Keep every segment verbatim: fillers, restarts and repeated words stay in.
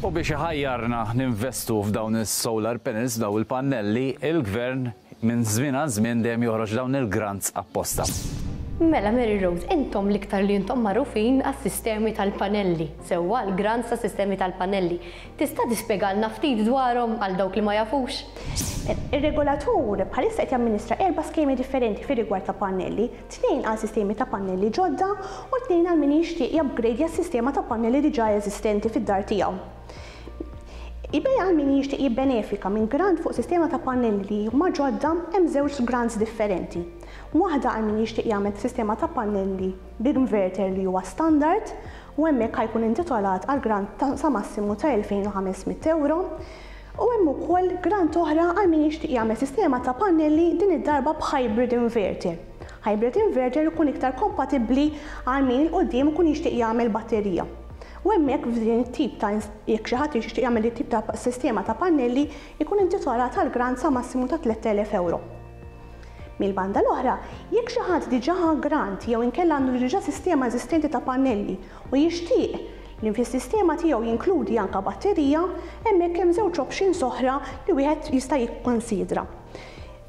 U biex iħajjarna ninvestu f'dawn is-solar panels, dawn il-pannelli, il-gvern minn żmien għal żmien dejjem joħroġ dawn il-grants apposta. Mela, Mary Rose, intom l-iktar li intom magħrufin għas-sistemi tal-panelli, sewwa l-grants ta' sistemi tal-panelli. Tista' tispjegalna ftit dwarhom għal dawk li ma jafux? Ir-regolatur bħalissa qed jamministra erba' skemi differenti fir-rigward ta' pannelli, tnejn għal sistemi ta' pannelli ġodda u tnejn għal min jixtieq jupgradeja s-sistema ta' pannelli diġà eżistenti fid-dar tiegħu. Ibej għal min jixtieq jibbenefika minn grant fuq sistema ta' pannelli li huma ġodda, hemm żewġ grants differenti. Waħda għal min jixtieq jagħmel sistema ta' pannelli b'inverter li huwa standard u hemmhekk ħa jkun intitolat għal grant ta' sa massimu ta' elfejn u ħames mitt euro. U hemm ukoll grant oħra għal min jixtieq jagħmel sistema ta' pannelli, din id-darba b'hybrid inverter. Hybrid inverter ikun iktar kompatibbli għal min 'il quddiem ikun jixtieq jagħmel batterija. U hemmhekk f'din it-tip ta' jekk xi ħadd jixtieq jagħmel it-tip ta' sistema ta' pannelli, ikun intitolat għal grant sa massimu ta' tlett elef euro. Mill-banda l-oħra, jekk xi ħadd diġà ħa grant jew inkella għandu diġà sistema eżistenti ta' pannelli u jixtieq li fis-sistema tiegħu jinkludi anka batterija, hemmhekk hemm żewġ options oħra li wieħed jista' jikkonsidra.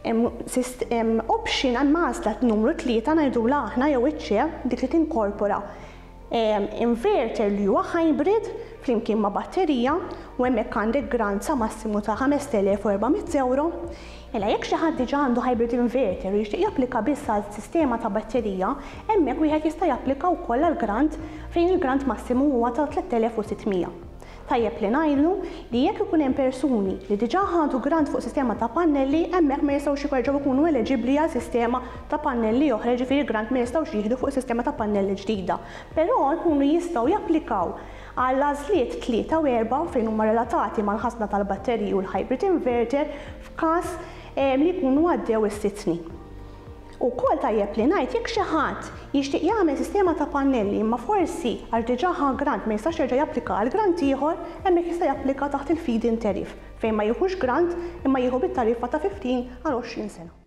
Hemm option, hemm għażla numru tlieta ngħidulha aħna jew iċ-ċe, dik li tinkorpora inverter li huwa hybrid flimkien ma' batterija u hemmhekk għandek grant sa massimu ta' ħamest elef u erba' mitt euro. Mela jekk xi ħadd diġà għandu hybrid inverter u jixtieq japplika biss għal sistema ta' batterija, hemmhekk wieħed jista' japplika wkoll għal grant fejn il-grant massimu huwa ta' tlett elef u sitt mija. Tajjeb li ngħidu li jekk ikun hemm persuni li diġà ħadu grant fuq sistema ta' pannelli, hemmhekk ma jistgħux jerġgħu jkunu eliġibbli għal sistema ta' pannelli oħra, ġifieri grant ma jistgħux jieħdu fuq sistema ta' pannelli ġdida. Però jkunu jistgħu japplikaw għal għażliet tlieta u erba' fejn huma relatati mal-ħażna tal-batteriji u l-hybrid inverter f'każ li jkunu għaddew is-sitt snin. Ukoll tajjeb li ngħid, jekk xi ħadd jixtieq jagħmel sistema ta' pannelli imma forsi għax diġà ħa grant ma jistax jerġa' japplika għal grant ieħor, hemmhekk jista' japplika taħt il-feed-in tariff fejn ma jieħux grant imma jieħu bit-tariffa ta' ħmistax għal għoxrin sena.